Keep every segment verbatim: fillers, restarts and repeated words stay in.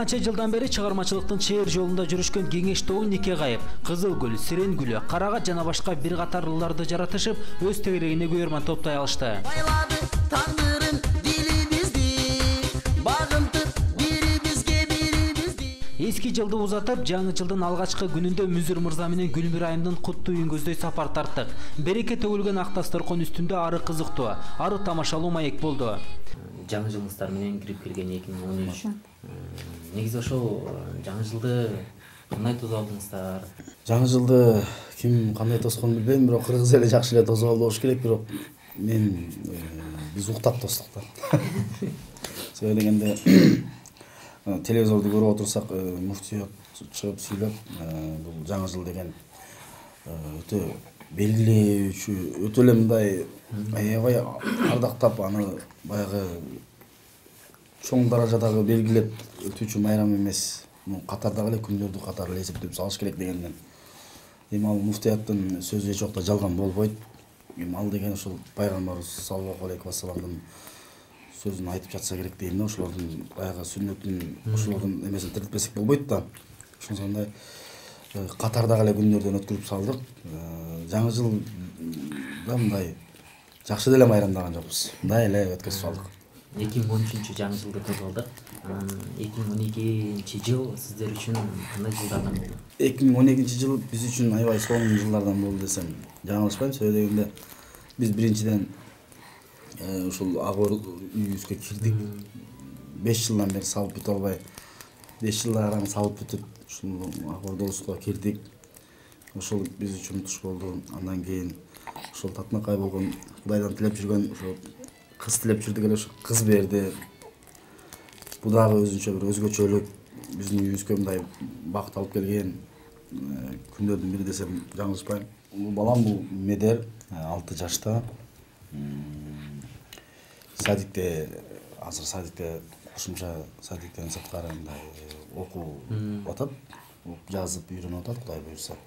канча жылдан бери чыгармачылыктын чейир жолунда жүрүшкөн Кеңештоо, Нике Кайып, Кызыл гүл, Сирен гүлү, Карагат жана башка бир катар ырларды жаратышып, өз тегерегине көйөрман топтой алышты. Эски жылды узатып, жаңы жылдын алгачкы күнүндө Мүзүр мырза менен Гүлмир айымдын куттуу үйүн көздөй сапар тарттык. Береке төгүлгөн ак дасторкон үстүндө ары кызыктуу, ары тамашалуу маек болду. Жаңы жылыңыздар менен кирип келген эки миң он үч. Негизи ошол жаңы жылды кандай тосуп алдыңыздар? Жаңы жылды ким кандай тосконун билбейм, бирок кыргыз эли жакшы эле тосуп алды болуш керек, бирок мен биз уктап тостук да. Себеби дегенде телевизорду көрүп отурсак, муфтият чыгып сүйлөп, бул жаңы жыл деген өтө белгилөөчү, өтө эле мындай аябай ардактап, аны баягы чоң даражадагы белгилеп өтүүчү майрам эмес, катардагы эле күндөрдү катары эле эсептеп салыш керек дегенден. Эми ал муфтияттын сөзү эч убакта жалган болбойт. Эми ал деген ошол пайгамбарыбыз саллаллаху алейхи вассаламдын сөзүн айтып жатса керек дейм да, ошолордун баягы сүннөтүн, ошолордун эмесин тирилтпесек болбойт да. Ошондой катардагы эле күндөрдөн өткөрүп салдык. Жаңы жылда мындай жакшы деле майрамдаган жокпуз. Мындай эле өткөрүп салдык. эки миң он үчүнчү жаңы жылды тосуп алдык. эки миң он экинчи жыл сиздер үчүн кандай жылдардан болду? эки миң он экинчи жыл биз үчүн аябай сонун жылдардан болду десем жаңылышпайм. Себеби дегенде биз биринчиден ушул Агор үйүбүзгө кирдик. беш жылдан бери салып бүтө албай, беш жылдан араң салып бүтүп, ушул Агор долуско кирдик. Ошол биз үчүн туш болду. Андан кийин ошол татынакай болгон, Кудайдан тилеп жүргөн, ошо кыз тилеп жүрдүк эле, ошо кыз берди. Бул дагы өзүнчө бир өзгөчөлүк, биздин үйүбүзгө мындай бакыт алып келген күндөрдүн бири десем жаңылышпайм. Бул балам, бул Медер, алты жашта. Садикте, азыр садикте, кошумча садиктен сырткары мындай окуп атат, жазып үйрөнүп атат, Кудай буйрса.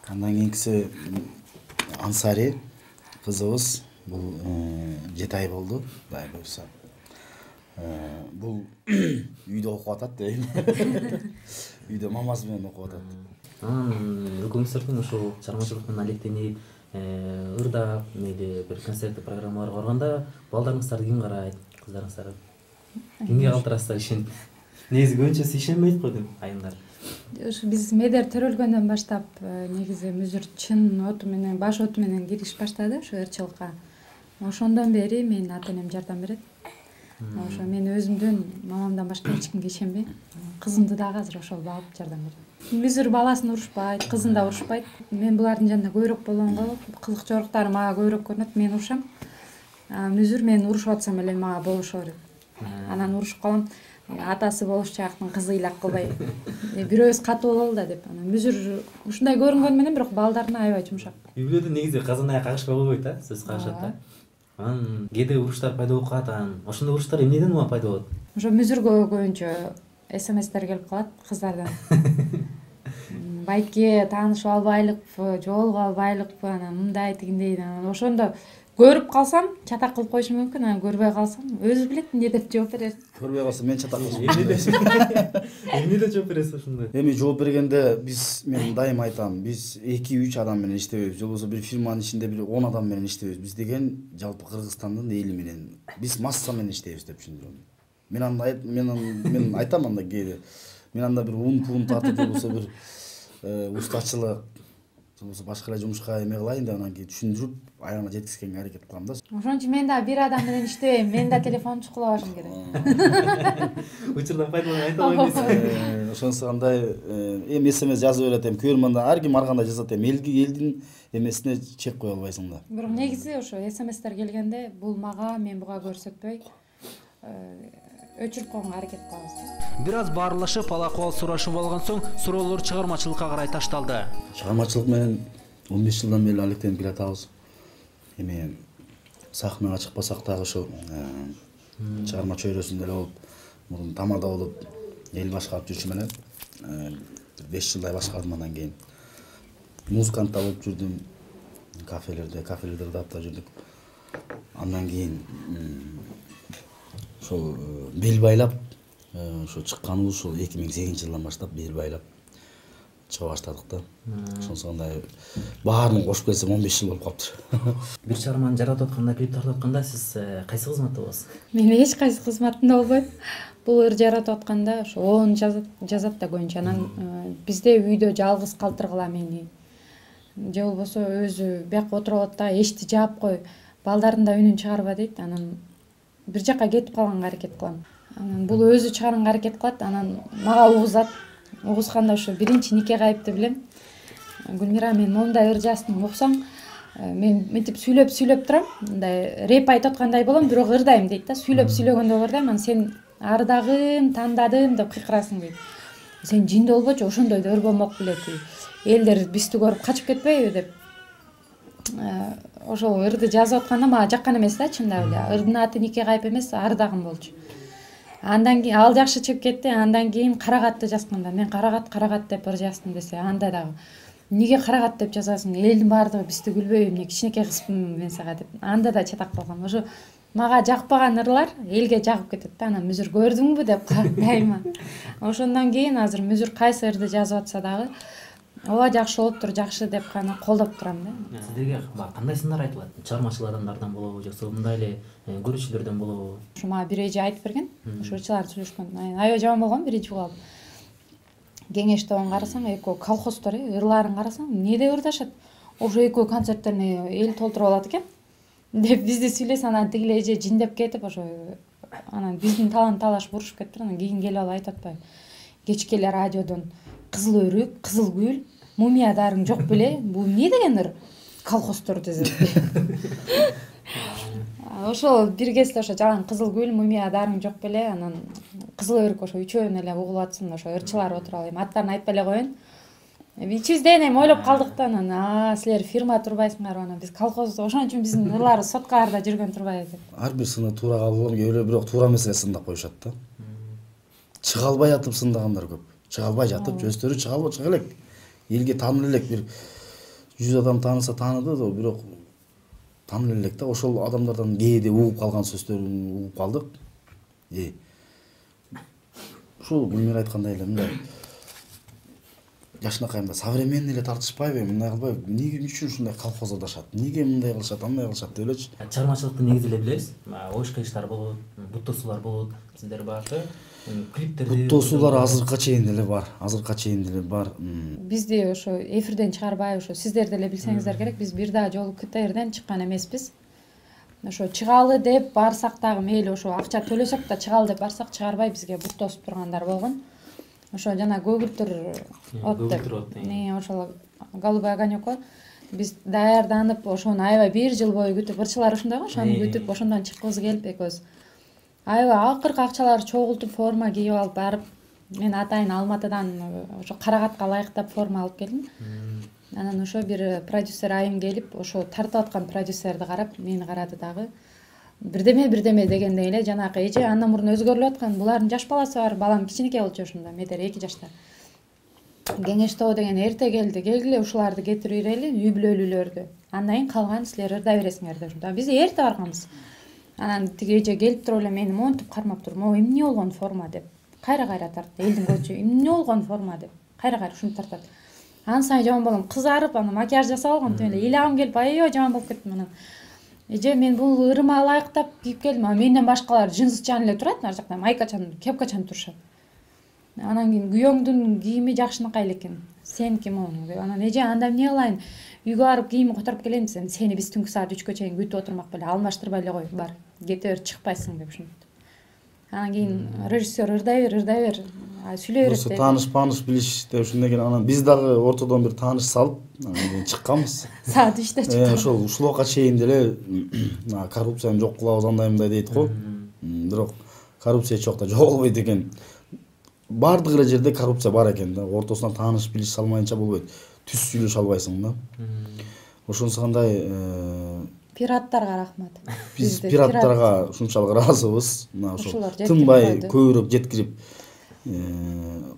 Андан кийинкиси Ансари, кызыбыз, бул жети ай болду, Кудай буйрса. Бул үйдө окуп атат дейм. Үйдө мамасы менен окуп атат. Анан экөөңүздөрдүн ушул чыгармачылык менен алектенип, ырдап, мейли бир концерттик программаларга барганда балдарыңыздарды ким карайт, кыздарыңыздарды? Кимге калтырасыздар ишенип? Негизи көбүнчөсү ишенбейт го дейм, айымдар. Ушу биз Медер төрөлгөндөн баштап негизи Мүзүр чын оту менен, баш оту менен кириш баштады ушу ырчылыкка. Ошондон бери менин ата-энем жардам берет. Ошо мен өзүмдөн, мамамдан башка эч кимге ишенбейм. Кызымды дагы азыр ошол багып жардам берет. Мүзүр баласын урушпайт, кызын да урушпайт. Мен булардын жанында көбүрөөк болгонго, кызык жоруктары мага көбүрөөк көрүнөт, мен урушам. Мүзүр мен урушуп атсам эле мага болушо берет. Анан урушуп калам, атасы болуш жактын кызы ыйлак кылбай, бирөөбүз катуу бололу да деп. Анан Мүзүр ушундай көрүнгөнү менен бирок балдарына аябай жумшак. Үй-бүлөдө негизи казан аяк кагышпай болбойт да, сөз кагышат да. Анан кээде уруштар пайда болуп калат, анан ошондой уруштар эмнеден улам пайда болот? Ошо Мүзүргө көбүнчө смстер келип калат кыздардан. Байке таанышып албайлыкпы, жолугуп албайлыкпы, анан мындай тигиндей. Анан ошондо көрүп калсам чатак кылып коюшум мүмкүн, анан көрбөй калсам өзү билет эмне деп жооп берер. Көрбөй калсам мен чатак кылышым. Эмне деп жооп бересиз ошондой? Эми жооп бергенде биз, мен дайым айтам, биз эки үч адам менен иштебейбиз, же болбосо бир фирманын ичинде бир он адам менен иштебейбиз. Биз деген жалпы Кыргызстандын эли менен, биз масса менен иштейбиз деп түшүндүрөм. Мен анда мен мен айтам анда кээде. Мен анда бир ун пун тартып, же болбосо бир устачылык, же болбосо башка эле жумушка эме кылайын деп анан кийин түшүндүрүп, аягына жеткизгенге аракет кылам да. Ошон үчүн мен да бир адам менен иштебейм, мен да телефонду чукулабашым керек. Учурдан пайдаланып айта албайсыз. Ошонусу андай эми смс жазып берет, эми көрмөндө ар ким ар кандай жазат, эми элги элдин эмесине чек кое албайсың да. Бирок негизи ошо смстер келгенде бул мага, мен буга көрсөтпөй өчүрүп койгонго аракет кылабыз. Бир аз баарлашып, алакыбал сурашып алган соң, суроолор чыгармачылыкка карай ташталды. Чыгармачылык менен он беш жылдан бери алектенип келатабыз. Эми сахнага чыкпасак дагы ошо чыгарма чөйрөсүндө эле болуп, мурун тамада болуп, эл башкарып жүрчүм эле. беш жылдай башкардым, андан кийин музыкант да болуп жүрдүм. Кафелерде, кафелерде ырдап да жүрдүк. Андан кийин ошол бел байлап ошо чыкканыбыз ушул эки миң сегизинчи жылдан баштап бел байлап чыга баштадык да. Ошонсо андай баарын кошуп келсем он беш жыл болуп калыптыр. Бир чыгарманы жаратып атканда, клип тартып атканда сиз кайсы кызматта болосуз? Мен эч кайсы кызматында болбойм. Бул ыр жаратып атканда ошо оон жазат жазат да көбүнчө. Анан бизде үйдө жалгыз калтыргыла мени. Же болбосо өзү бияка отуруп алат да, эшти жаап кой, балдардын да үнүн чыгарба дейт. Анан бир жака кетип калганга аракет кылам. Анан бул өзү чыгарганга аракет кылат, анан мага угузат. Угузганда ошо биринчи нике кайыпты билем. Гүлмира, мен мондай ыр жаздым, уксаң, мен мынтип сүйлөп сүйлөп турам, мындай реп айтып аткандай болом, бирок ырдайм дейт да. Сүйлөп сүйлөгөндө ырдайм, анан сен ардагым, тандадым деп кыйкырасың дейт. Сен жиндүү болбочу, ошондой да ыр болмок беле. Элдер бизди көрүп качып кетпейби деп. Ошол ырды жазып атканда мага жаккан эмес да, чындап эле. Ырдын аты нике кайып эмес, ардагым болчу. Андан кийин ал жакшы чыгып кетти. Андан кийин карагатты жазганда, мен карагат карагат деп ыр жаздым десе, анда дагы эмнеге карагат деп жазасың? Элдин баардыгы бизди күлбөйбү, эмне кичинекей кызмын мен сага деп. Анда да чатак калгам. Ошо мага жакпаган ырлар элге жагып кетет да. Анан мүзүр көрдүңбү деп дайыма. Ошондон кийин азыр мүзүр кайсы ырды жазып атса дагы ооба жакшы болуптур, жакшы деп гана колдоп турам да. Сиздерге кандай сындар айтылат? Чыгармачыл адамдардан болобу, жоксо мындай эле көрүүчүлөрдөн болобу? Ошо мага бир эже айтып берген. Ошо ырчылар сүйлөшкөн. Аябай жаман болгон биринчи угап. Кеңеш тобун карасаң, экөө колхоздор, ырларын карасаң, эмнеде ырдашат? Ошо экөө концерттерине эл толтуруп алат экен. Деп бизди сүйлөсө, анан тигил эже жиндеп кетип, ошо анан биздин талан талаш бурушуп кетиптир. Анан кийин келип алып айтып атпайбы? Кечке эле радиодон кызыл өрүк, кызыл гүл, мумиядарың жок беле? Бул эмне деген ыр? Колхоздор десет. Ошол бир кезде ошо жалаң кызыл гүл, мумиядарың жок беле? Анан кызыл өрүк ошо үчөөнү эле угулуп атсын, ошо ырчылар отуруп алайын. Аттарын айтпай эле коеюн. Ичибизден эми ойлоп калдык да, анан а силер фирма турбайсыңарбы, анан биз колхоз, ошон үчүн биздин ырларыбыз соткаларда жүргөн турбайбы деп. Ар бир сыны туура кабыл алып, кээ бирок туура эмес эле сындап коюшат да. Чыга албай атып сындагандар көп. Чыга албай жатып, өздөрү чыга албай чыга элек. Элге таанылып элек, бир жүз адам тааныса тааныды да, бирок таанылып элек да. Ошол адамдардан кээде угуп калган сөздөрүн угуп калдык. Э. Ушул Гүлмира айткандай эле мындай жашынакайымда современный эле тартышпайбы, мындай кылбайбы? Эмне үчүн ушундай колхоздашат? Эмнеге мындай кылышат, андай кылышат деп элечи. Чыгармачылыкты негизи эле билебиз. Ош кыйыштар болот, буттосуулар болот. Сиздер башы клиптерди буттосуулар азыркыга чейин деле бар. Азыркыга чейин деле бар. Бизди ошо эфирден чыгарбай, ошо сиздер деле билсеңиздер керек. Биз бир дагы жолу КТРден чыккан эмеспиз. Ошо чыгалы деп барсак дагы мейли ошо акча төлөсөк да чыгалы деп барсак чыгарбай бизге буттосуп тургандар болгон. Ошо жана көгүлтүр от деп. Не, ошол голубой огонёк. Биз даярданып, ошону аябай бир жыл бою күтүп, ырчылар ушундай го, ошону күтүп, ошондон чыккыбыз келип экөөбүз. Аябай акыркы акчаларды чогултуп, форма кийип алып барып, мен атайын Алматыдан ошо Карагатка ылайыктап форма алып келдим. Анан ошо бир продюсер айым келип, ошо тартып аткан продюсерди карап, мени карады дагы. Бирдеме бирдеме дегендей эле жанакы эже андан мурун өзгөрүлүп аткан. Булардын жаш баласы бар, балам кичинекей болчу ошондо, метр эки жашта. Кеңеш тобу деген эрте келди, келгиле ушуларды кетирип берели, үй бүлөлүүлөрдү. Андан кийин калган силер ырдай бересиңер деп. Биз эрте барганбыз. Анан тиги эже келип туруп эле мени монтип кармап туруп, "Мо эмне болгон форма" деп. Кайра-кайра тартты. Элдин көчү эмне болгон форма деп. Кайра-кайра ушуну тартат. Ан сайын жаман болгом, кызарып, аны макияж жасап алгам, тим эле илагым келип, аябай жаман болуп кеттим анан. Эже, мен бул ырыма ылайыктап кийип келдим, а менден башкалар джинсчан эле турат, ар жакта майкачан, кепкачан турушат. Анан кийин күйөөңдүн кийими жакшынакай экен. Сен ким ону деп. Анан эже, анда эмне кылайын? Үйгө барып кийим которуп келейин десем, сени биз түнкү саат үчкө чейин күтүп отурмак беле, алмаштырбай эле кой, бар. Кете бер, чыкпайсың деп ушинтип. Анан кийин режиссер ырдай бер, ырдай бер, сүйлөй берет деп. Тааныш, пааныш билиш деп ушундай экен. Анан биз дагы ортодон бир тааныш салып, анан чыкканбыз. Саат үчтө чыккан. Э, ошол ушулга чейин деле коррупцияны жок кылабыз андай мындай дейт го. Бирок коррупция эч жакта жок болбойт экен. Бардык эле жерде коррупция бар экен да. Ортосунан тааныш билиш салмайынча болбойт. Түз сүйлөшө албайсың да. Ошонусу кандай пираттарга рахмат. Биз пираттарга ушунчалык ыраазыбыз. Мына ошо тынбай көбүрөөк жеткирип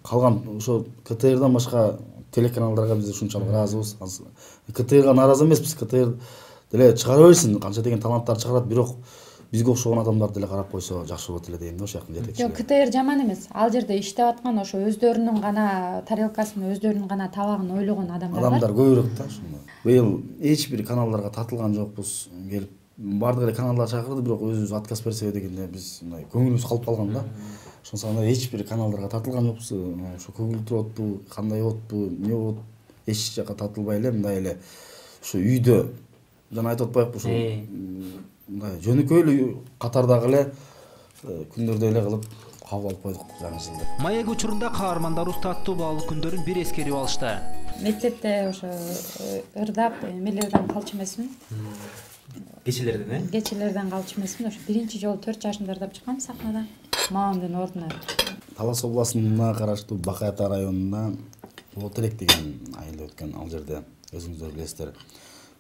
калган ошо КТРдан башка телеканалдарга биз ушунчалык ыраазыбыз. КТРга нааразы эмеспиз. КТР деле чыгара берсин, канча деген таланттар чыгарат, бирок бизге окшогон адамдар деле карап койсо жакшы болот эле дейм да, ошол жактын жетекчилери. Жок, КТР жаман эмес. Ал жерде иштеп аткан ошо өздөрүнүн гана тарелкасын, өздөрүнүн гана табагын ойлогон адамдар бар. Адамдар көбүрөөк да ошондой. Быйыл эч бир каналдарга тартылган жокпуз. Келип бардык эле каналдар чакырды, бирок өзүбүз отказ берсек дегенде биз мындай көңүлүбүз калып калган да. Ошондо эч бир каналдарга тартылган жокпуз. Ошо көгүлдүр болотпу, кандай болотпу, эмне болот, эч жака тартылбай эле мындай эле ушу үйдө жана айтып атпайбыкпы ушу мындай жөнөкөй эле катардагы эле күндөрдө эле кылып кабыл алып койдук жаңы жылды. Маек учурунда каармандар устаттуу баалуу күндөрүн бир эскерип алышты. Мектепте ошо ырдап эмелерден калчу эмесмин. Кечелерден, э? Кечелерден калчу эмесмин. Ошо биринчи жолу төрт жашымда ырдап чыккам сахнада. Мамамдын ордуна. Талас областына караштуу Бакай ата районунда Оотелек деген айыл өткөн. Ал жерде өзүңүздөр билесиздер,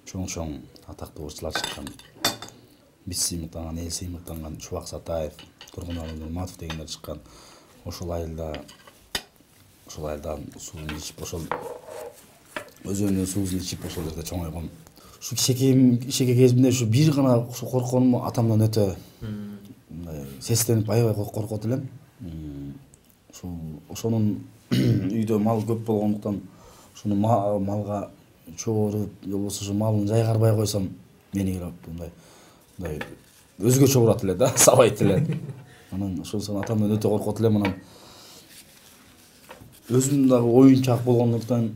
чоң-чоң атактуу ырчылар чыккан. Биз сыймыктанган, эл сыймыктанган Чубак Сатаев, Тургуналы Нурматов дегендер чыккан. Ошол айылда ошол айылдан суун ичип, ошол өзөнүн суусун ичип ошол жерде чоңойгом. Ушу кичекейим кичекей кезимде ушу бир гана ушу коркконум атамдан өтө мындай сестенип аябай коркот элем. Ушул ошонун үйдө мал көп болгондуктан ушуну малга чогууруп, же болбосо ушу малын жайгарбай койсом мени келип мындай мындай өзгөчө урат эле да, сабайт эле. Анан ошонсо атамдан өтө коркот элем. Анан өзүм дагы оюнчак болгондуктан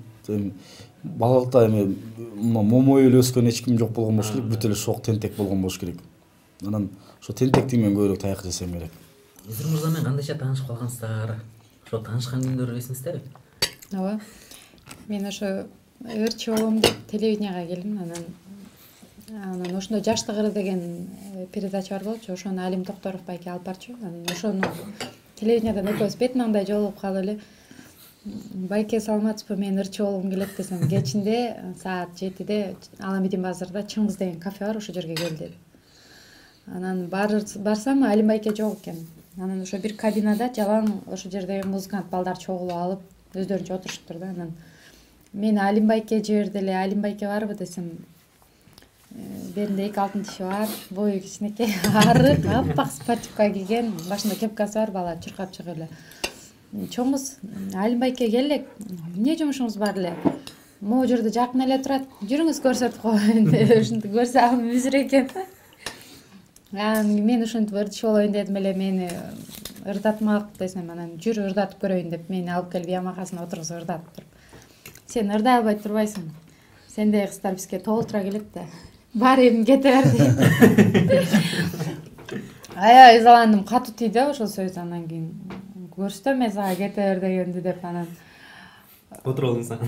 балалыкта эми момой эле өскөн эч ким жок болгон болуш керек, бүт эле шок тентек болгон болуш керек. Анан ошо тентектик менен көбүрөөк таяк жесем керек. Мүзүр мырза менен кандайча таанышып калгансыздар? Ошо таанышкан күндөрү эсиңиздерби? Ооба. Мен ошо ырчы болом деп телевиденияга келдим. Анан анан ошондо Жаштык ыры деген передача бар болчу. Ошону Алим Токторов байке алып барчу. Анан ошону телевидениядан экөөбүз бет маңдай жолугуп калып эле байке саламатсызбы, мен ырчы болгум келет десем, кечинде саат жетиде Аламедин базарда Чыңгыз деген кафе бар, ошол жерге кел деди. Анан барсам Алим байке жок экен. Анан ошо бир кабинада жалаң ошол жердеги музыкант балдар чогулуп алып өздөрүнчө отуруштур да. Анан мен Алим байке жиберди эле, Алим байке барбы десем, беринде эки алтын тиши бар, бою кичинекей, арык, аппак спортивка кийген, башында кепкасы бар бала чуркап чыгып эле. Чоңуз, Алим байке кел эле, эмне жумушуңуз бар эле? Могу жерде жакын эле турат, жүрүңүз көрсөтүп коеюн деп ушинтип көрсө ал мүзүр экен. Анан мен ушинтип ырчы болоюн дедим эле, мени ырдатмак десем, анан жүр ырдатып көрөйүн деп мени алып келип ямакасына отургузуп ырдатып туруп. Сен ырдай албай турбайсың. Сендей кыздар бизге толтура келет да. Бар эми кете бер дейт. Аябай ызаландым, катуу тийди ошол сөз. Анан кийин көрсөтөм мен сага кете бер дегенди деп анан отурдуң сен.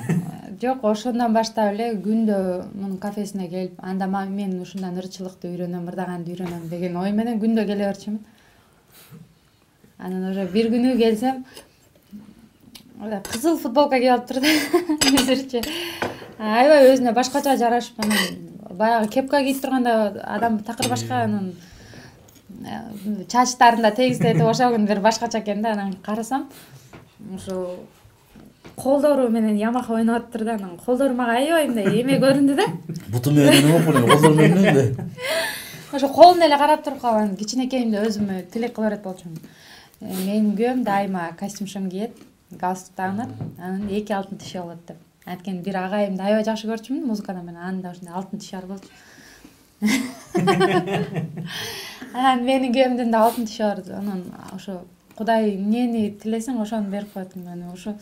Жок, ошондон баштап эле күндө мунун кафесине келип, анда мен ушундан ырчылыкты үйрөнөм, ырдаганды үйрөнөм деген ой менен күндө келе берчүмүн. Анан уже бир күнү келсем, кызыл футболка кийип алыптыр да, мүзүрчү. Аябай өзүнө башкача жарашып, анан баягы кепка кийип турганда адам такыр башка, анан чачтарын да тегиздетип ошол күн бир башкача экен да. Анан карасам, ошо колдору менен ямака ойноп атыптыр да. Анан колдору мага аябай мындай эме көрүндү да. Буту менен эме болуп эле, колдор менен эле. Ошо колун эле карап туруп калган, кичинекейимде өзүмө тилек кыла берет болчумун. Менин күйөөм дайыма костюм-шым кийет, галстук тагынат, анан эки алтын тиши болот деп. Анткени бир агайымды аябай жакшы көрчүмүн музыкадан менен, анын да ошондой алтын тиши бар болчу. Анан менин күйөөмдүн да алтын тиши бар. Анан ошо Кудай эмнени тилесең ошону берип коет. Анан ошо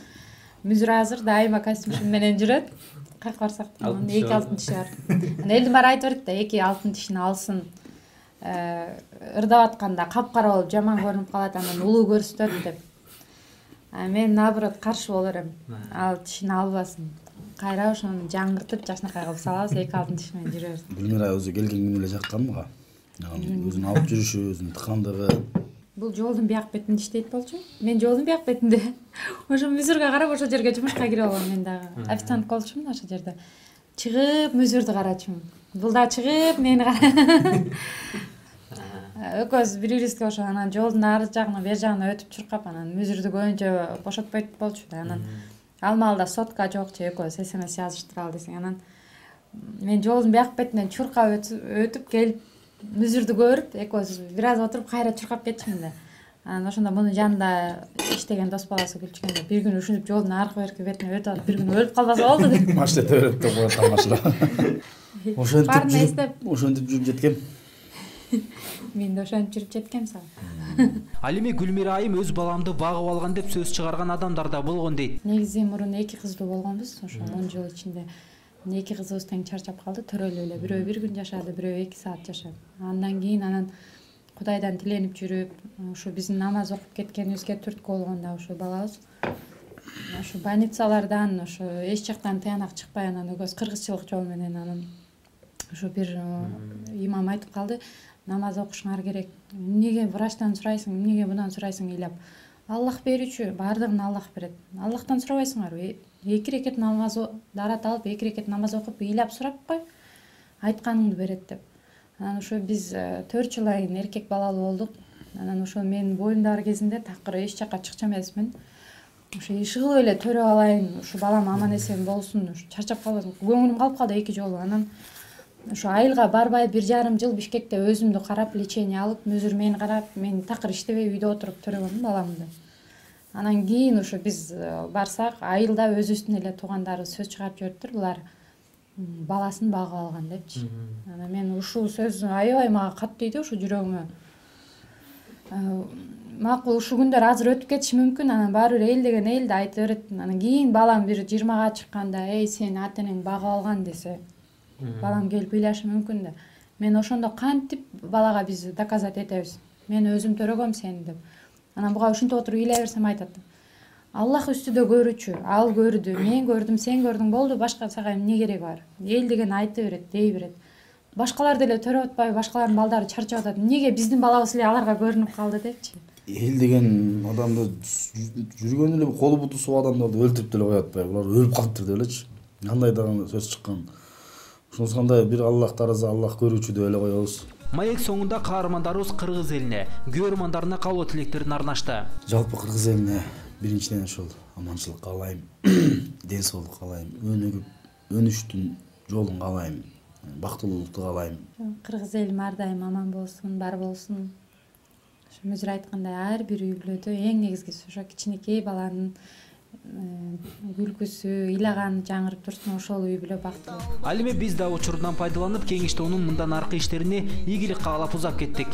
мүзүр азыр дайыма костюм менен жүрөт. Кайка барсак да эки алтын тиши бар. Анан элдин баары айтып берет да, эки алтын тишини алсын. Ырдап атканда капкара болуп жаман көрүнүп калат, анан улуу көрсөтөт деп. А мен наоборот каршы боло берем. Ал тишини албасын. Кайра ошону жаңыртып жакшынакай кылып салабыз, эки алтын тиш менен жүрөбүз. Гүлмира өзү келген күнү эле жаккан мага. Өзүн алып жүрүшү, өзүнүн тыкандыгы. Бул жолдун бияк бетинде иштейт болчу. Мен жолдун бияк бетинде. Ошо мүзүргө карап ошол жерге жумушка кирип алгам мен дагы. Официант болчумун ошол жерде. Чыгып мүзүрдү карачумун. Бул да чыгып мени карап. Экөөбүз бири-бирибизге ошо анан жолдун ар жагына, бер жагына өтүп чуркап, анан мүзүрдү көбүнчө бошотпойт болчу да. Анан ал маалда сотка жок, же экөөбүз смс жазыштыралы десең, анан мен жолдун бияк бетинен чуркап өтүп келип мүзүрдү көрүп экөөбүз бир аз отуруп кайра чуркап кетчүмүн да. Анан ошондо мунун жанында иштеген дос баласы күлчүгөндө бир күнү ушинтип жолдун аркы берки бетине өтүп алып бир күнү өлүп калбаса болду деп. Машина төрөп деп коет тамашалап. Ошентип жүрүп, ошентип жүрүп жеткем. Мен да ошентип жүрүп жеткем сага. Ал эми Гүлмира айым өз баламды багып алган деп сөз чыгарган адамдар да болгон дейт. Негизи мурун эки кыздуу болгонбуз. Ошо он жыл ичинде эки кызыбыз тең чарчап калды, төрөлүп эле. Бирөө бир күн жашады, бирөө эки саат жашады. Андан кийин анан Кудайдан тиленип жүрүп, ошо биздин намаз окуп кеткенибизге түрткү болгондо ошо балабыз ошо больницалардан, ошо эч жактан тыянак чыкпай анан өгөз кыргызчылык жол менен анан ошо бир имам айтып калды, намаз окушуңар керек. Эмнеге врачтан сурайсың, эмнеге мындан сурайсың ыйлап? Аллах берүүчү, баардыгын Аллах берет. Аллахтан сурабайсыңарбы? Эки рекет намаз дарат алып, эки рекет намаз окуп, ыйлап сурап кой. Айтканыңды берет деп. Анан ошо биз төрт жыл айын эркек балалуу болдук. Анан ошо менин боюмдагы кезинде такыр эч жакка чыкчу эмесмин. Ошо ишыгып эле төрөп алайын, ушу балам аман эсен болсун, ушу чарчап калбасын. Көңүлүм калып калды эки жолу. Анан ошо айылга барбай бир жарым жыл Бишкекте өзүмдү карап, лечение алып, мүзүр мени карап, мен такыр иштебей үйдө отуруп төрөгөнмүн баламды. Анан кийин ошо биз барсак, айылда өзүбүздүн эле туугандары сөз чыгарып жибериптир, булар баласын багып алган депчи. Анан мен ушул сөз аябай мага катуу тийди, ошо жүрөгүмө. Макул ушул күндөр азыр өтүп кетиши мүмкүн, анан баары бир эл деген эл да айта берет. Анан кийин балам бир жыйырмага чыкканда, "Эй, сени ата энең багып алган" десе, балам келип ыйлашы мүмкүн да. Мен ошондо кантип балага биз доказать этебиз? Мен өзүм төрөгөм сени деп. Анан буга ушинтип отуруп ыйлай берсем айтат. Аллах үстүдө көрүүчү, ал көрдү, мен көрдүм, сен көрдүң, болду, башка сага эмне кереги бар? Эл деген айта берет, дей берет. Башкалар деле төрөп атпайбы, башкалардын балдары чарчап атат. Эмнеге биздин балабыз эле аларга көрүнүп калды депчи. Эл деген адамды жүргөн эле колу буту суу адамдарды өлтүрүп деле коюп атпайбы? Булар өлүп калыптыр деп элечи. Кандай дагы сөз чыккан. Ошонусу кандай бир Аллах тараза, Аллах көрүүчү деп эле коебуз. Маек соңунда каармандарыбыз кыргыз элине, көрөрмандарына кабыл тилектерин арнашты. Жалпы кыргыз элине биринчиден ошол аманчылык каалайм, ден соолук каалайм, өнүгүп, өнүштүн жолун каалайм, бактылуулукту каалайм. Кыргыз элим ар дайым аман болсун, бар болсун. Ошо мүзүр айткандай, ар бир үй бүлөдө эң негизгиси ошо кичинекей баланын күлкүсү, ыйлаганы жаңырып турсун, ошол үй бүлө бактылуу. Ал эми биз да учурунан пайдаланып, кеңиштөөнүн мындан аркы иштерине ийгилик каалап узап кеттик.